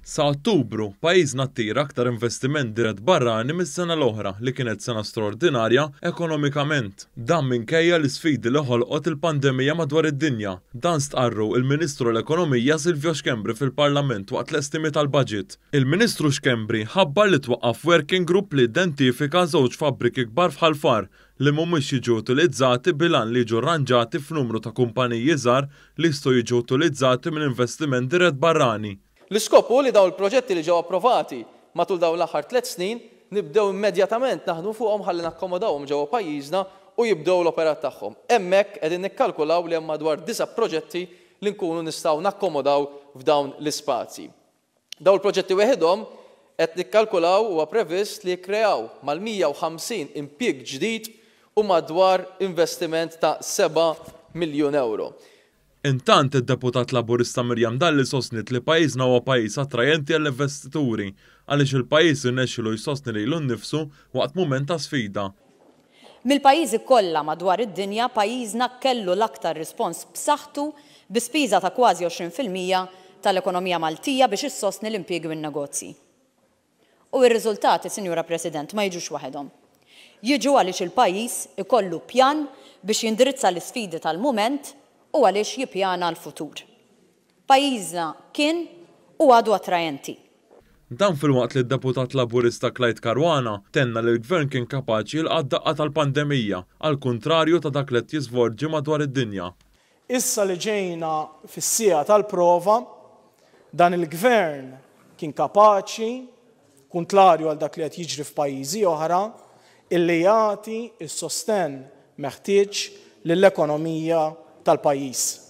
Sa Ottubru, pajjiżna attira aktar investiment dirett barrani mis-sena l-oħra li kienet sena straordinarja ekonomikament. Dan minkejja l-isfidi li ħolqot il-pandemija madwar id-dinja. Dan stqarru il-Ministru l-Ekonomija Silvio Schembri fil-Parlament waqt l-estimi tal-budget. Il-Ministru Schembri ħabbar li twaqqaf working group li identifika żewġ fabbriki kbar f'Ħal Far li mhumiex jiġu utilizzati bil-għan li jiġu rranġati f'numru ta' kumpaniji żgħar li jistgħu jiġu utilizzati minn investiment dirett barrani. L-iskop hu li dawn il-proġetti li ġew approvati matul dawn l-aħħar tlett snin nibdew immedjatament naħdmu fuqhom ħalli nakkomodawhom ġewwa pajjiżna u jibdew l-operat tagħhom. Hemmhekk qegħdin nikkalkulaw li hemm madwar disa' proġetti li nkunu nistgħu nakkomodaw f'dawn l-ispazji. Dawn il-proġetti weħidhom qed nikkalkulaw huwa previst li jikkreaw mal-150 impjieg ġdid u madwar investiment ta' seba' miljun ewro. Intant, id-Deputat Laburista Miriam Dalli sostniet li pajjiżna huwa pajjiż attrajenti għall-investituri għaliex il-pajjiż irnexxielu jsostni lilu nnifsu waqt mument ta' sfida. Mill-pajjiżi kollha madwar id-dinja, pajjiżna kellu l-aktar rispons b'saħħtu bi spiża ta' kważi 20% tal-ekonomija Maltija biex issostni l-impjiegi u n-negozji. U r-riżultati, Sinjura President, ma jiġux waħedhom. Jiġu għaliex il-pajjiż ikollu pjan biex jindirizza l-isfidi tal-mument u għaliex jippjana l-futur. Pajjiżna kien u għadu attrajenti. Dan filwaqt li d-Deputat Laburista Clyde Caruana tenna li l-Gvern kien kapaċi jilqa' d-daqqa tal-pandemija, għall-kuntrarju ta' dak li qed jiżvolġi madwar id-dinja. Issa li ġejna fis-siegħa tal-prova, dan il-Gvern kien kapaċi, kuntlarju għal dak li qed jiġri f'pajjiżi oħra, illi jagħti s-sostenn meħtieġ lill-ekonomija tal-pajjiż.